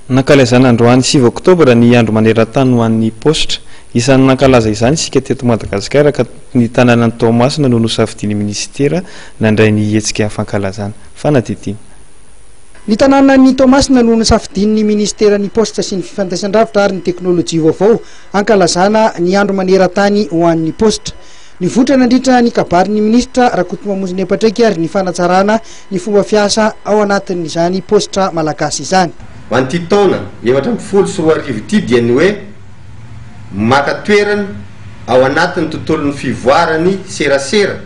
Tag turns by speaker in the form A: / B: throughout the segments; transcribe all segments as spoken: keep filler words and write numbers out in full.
A: Nankalazana androany sivy oktobra ny andro maneran-tany ho an'ny paositra. Isan'ny nankalaza izany isika teto Madagasikara, ka ny tanànan'i Toamasina no nosafidian'ny ministera nandray ny hetsika fankalazana. Fanadihadiana.
B: Ny tanànan'i Toamasina no nosafidian'ny ministeran'ny Paositra sy ny Fifandraisan-davitra ary ny Teknôlôjia vaovao ankalazana ny andro maneran-tany ho an'ny paositra. Nivoitra nandritra ny kabarin'ny ministra Rakotomamonjy Patrick ary ny fanatsarana ny fomba fiasa ao anatin'izany paositra malagasy izany.
C: Ho an'ity taona efatra amby folo sy roa arivo ity dia ny hoe maka toerana ao anatin'ny tontolon'ny fivoaran'ny serasera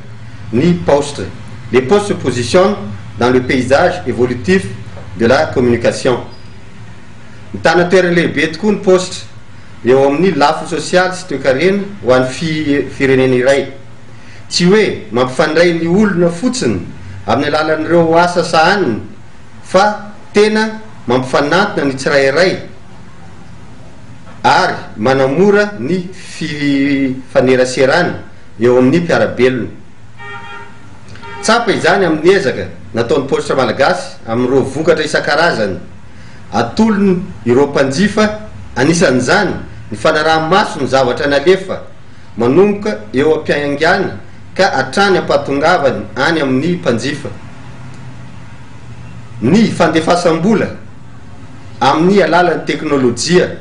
C: ny paositra. Les postes se positionnent dans le paysage évolutif de la communication. Mitana toerana lehibe tokoa ny paositra eo amin'ny lafiny sosialy sy toekarena ho an'ny fi- firenena iray. Tsy hoe mampifandray ny olona fotsiny amin'ny alalan'ireo asa sahaniny, fa tena mampifanantona ny tsirairay ary manamora ny fifaneraserana eo amin'ny mpiarabelona. Tsapa izany amin'ny ezaka nataon'ny Paositra Malagasy amin'ireo vokatra isan-karazany atolony ireo mpanjifa, anisan'izany ny fanaraha-maso ny zavatra nalefa manomboka eo am-piaingana ka hatrany ampahatongavany any amin'ny mpanjifa, ny fandefasam-bola amin'ny alalan'ny teknôlôjia,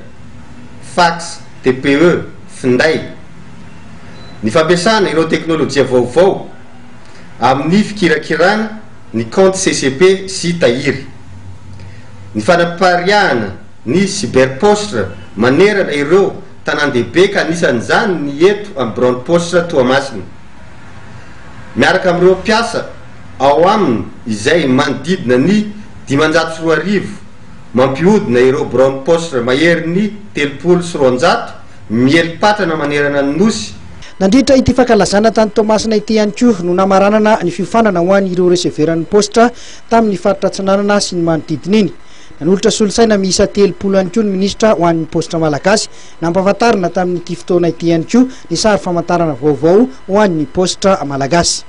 C: fax, T P E, finday, ny fampiasana ireo teknôlôjia vaovao amin'ny fikirakirana ny compte C C P sy tahiry, ny fanapariahana ny cyberposte manerana ireo tanàn-dehibe, ka anisan'izany ny eto amin'ny biraon'ny paositra Toamasina miaraka amin'ireo mpiasa ao aminy izay manodidina ny dimanjato sy roa arivo, mampiodina ireo biraon'ny paositra mahery ny telopolo sy roanjato mieli-patrana manerana ny nosy.
B: Nandritra ity fankalazana tany Toamasina ity ihany koa no namaranana ny fiofanana ho an' ireo receveran'ny paositra tamin'ny faritra Atsinanana sy ny manodidina iny. Nanolotra solosaina miisa telopolo ihany koa ny ministra ho an'ny Paositra Malagasy. Nampahafantarina tamin'ity fotoana ity ihany koa ny sary famantarana vaovao ho an'ny Paositra Malagasy.